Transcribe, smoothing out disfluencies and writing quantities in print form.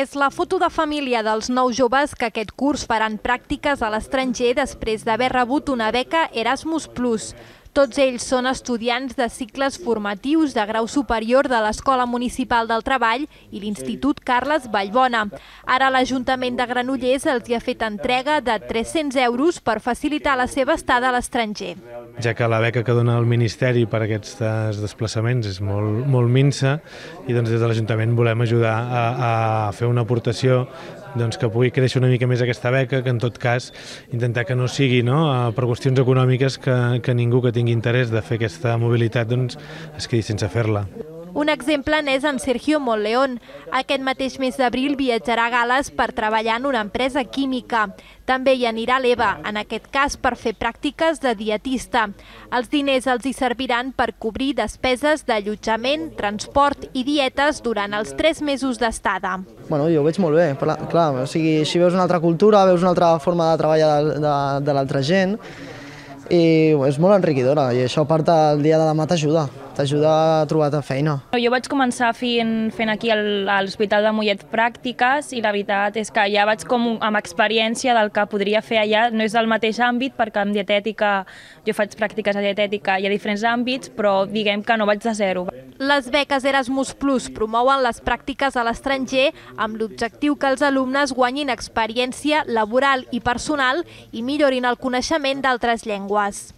És la foto de família dels 9 joves que aquest curs faran pràctiques a l'estranger després d'haver rebut una beca Erasmus+. Tots ells són estudiants de cicles formatius de grau superior de l'Escola Municipal del Treball i l'Institut Carles Vallbona. Ara l'Ajuntament de Granollers els hi ha fet entrega de 300 euros per facilitar la seva estada a l'estranger. Ja que la beca que dona el Ministeri per a aquests desplaçaments és molt minsa i des de l'Ajuntament volem ajudar a fer una aportació que pugui créixer una mica més aquesta beca, que en tot cas intentar que no sigui per qüestions econòmiques que ningú que tingui interès de fer aquesta mobilitat es quedi sense fer-la. Un exemple n'és en Sergio Monleón. Aquest mateix mes d'abril viatjarà a Gal·les per treballar en una empresa química. També hi anirà l'Eva, en aquest cas per fer pràctiques de dietista. Els diners els hi serviran per cobrir despeses d'allotjament, transport i dietes durant els 3 mesos d'estada. Jo ho veig molt bé, clar, així veus una altra cultura, veus una altra forma de treballar de l'altra gent i és molt enriquidora i això a part el dia de demà t'ajuda a trobar feina. Jo vaig començar fent aquí a l'Hospital de Mollet pràctiques i la veritat és que ja vaig amb experiència del que podria fer allà. No és del mateix àmbit perquè en dietètica jo faig pràctiques de dietètica i a diferents àmbits, però diguem que no vaig de zero. Les beques Erasmus+ promouen les pràctiques a l'estranger amb l'objectiu que els alumnes guanyin experiència laboral i personal i millorin el coneixement d'altres llengües.